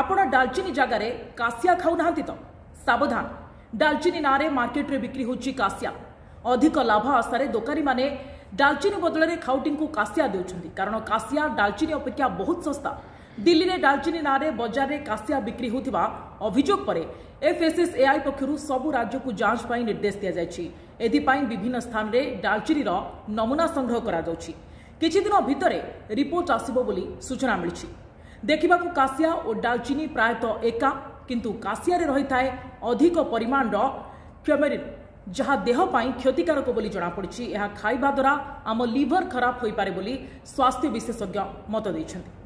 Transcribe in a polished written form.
ଆପଣ ଡାଲଚିନି ଜାଗାରେ କାସିଆ ଖାଉନାହାନ୍ତି ତ? ସାବଧାନ! ଡାଲଚିନି ନାଁରେ ମାର୍କେଟରେ ବିକ୍ରି ହେଉଛି କାସିଆ। ଅଧିକ ଲାଭ ଆଶାରେ ଦୋକାନୀମାନେ ଡାଲଚିନି ବଦଳରେ ଖାଉଟିଙ୍କୁ କାସିଆ ଦେଉଛନ୍ତି, କାରଣ କାସିଆ ଡାଲଚିନି ଅପେକ୍ଷା ବହୁତ ଶସ୍ତା। ଦିଲ୍ଲୀରେ ଡାଲଚିନି ନାଁରେ ବଜାରରେ କାସିଆ ବିକ୍ରି ହେଉଥିବା ଅଭିଯୋଗ ପରେ ଏଫ୍ଏସ୍ଏସ୍ଏଆଇ ପକ୍ଷରୁ ସବୁ ରାଜ୍ୟକୁ ଯାଞ୍ଚ ପାଇଁ ନିର୍ଦ୍ଦେଶ ଦିଆଯାଇଛି। ଏଥିପାଇଁ ବିଭିନ୍ନ ସ୍ଥାନରେ ଡାଲଚିନିର ନମୁନା ସଂଗ୍ରହ କରାଯାଉଛି। କିଛିଦିନ ଭିତରେ ରିପୋର୍ଟ ଆସିବ ବୋଲି ସୂଚନା ମିଳିଛି। ଦେଖିବାକୁ କାସିଆ ଓ ଡାଲଚିନି ପ୍ରାୟତଃ ଏକା, କିନ୍ତୁ କାସିଆରେ ରହିଥାଏ ଅଧିକ ପରିମାଣର କ୍ୟୁମେରିନ୍, ଯାହା ଦେହ ପାଇଁ କ୍ଷତିକାରକ ବୋଲି ଜଣାପଡ଼ିଛି। ଏହା ଖାଇବା ଦ୍ୱାରା ଆମ ଲିଭର ଖରାପ ହୋଇପାରେ ବୋଲି ସ୍ୱାସ୍ଥ୍ୟ ବିଶେଷଜ୍ଞ ମତ ଦେଇଛନ୍ତି।